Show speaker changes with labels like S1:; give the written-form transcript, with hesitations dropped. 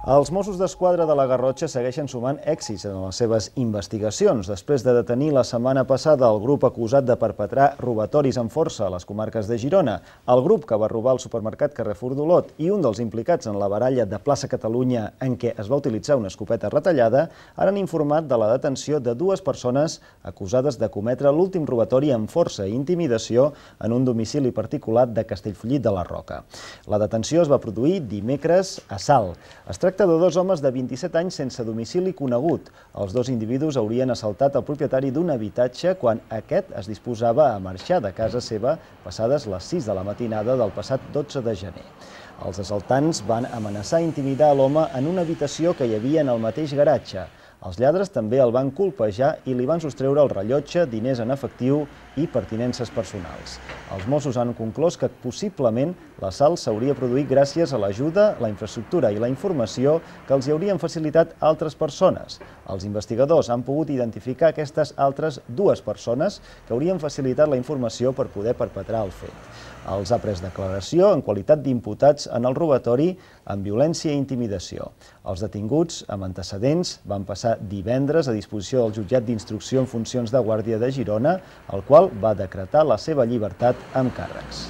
S1: Els Mossos d'Esquadra de la Garrotxa segueixen sumant èxits en les seves investigacions. Després de detenir la setmana passada el grup acusat de perpetrar robatoris amb força a les comarques de Girona, el grup que va robar el supermercat Carrefour d'Olot i un dels implicats en la baralla de Plaça Catalunya en què es va utilitzar una escopeta retallada, ara han informat de la detenció de dues persones acusades de cometre l'últim robatori amb força i intimidació en un domicili particular de Castellfollit de la Roca. La detenció es va produir dimecres a Salt. Es tracta de dos homes de 27 anys sense domicili conegut. Els dos individus haurien assaltat el propietari d'un habitatge quan aquest es disposava a marxar de casa seva passades les 6 de la matinada del passat 12 de gener. Els assaltants van amenaçar i intimidar l'home en una habitació que hi havia en el mateix garatge. Els lladres també el van colpejar i li van sostreure el rellotge, diners en efectiu i pertinences personals. Els Mossos han conclòs que possiblement l'assalt s'hauria produït gràcies a l'ajuda, la infraestructura i la informació que els hi haurien facilitat altres persones. Els investigadors han pogut identificar aquestes altres dues persones que haurien facilitat la informació per poder perpetrar el fet. Els ha pres declaració en qualitat d'imputats en el robatori amb violència i intimidació. Els detinguts amb antecedents van passar divendres a disposició del jutjat d'instrucció en funcions de guàrdia de Girona, el qual va decretar la seva llibertat amb càrrecs.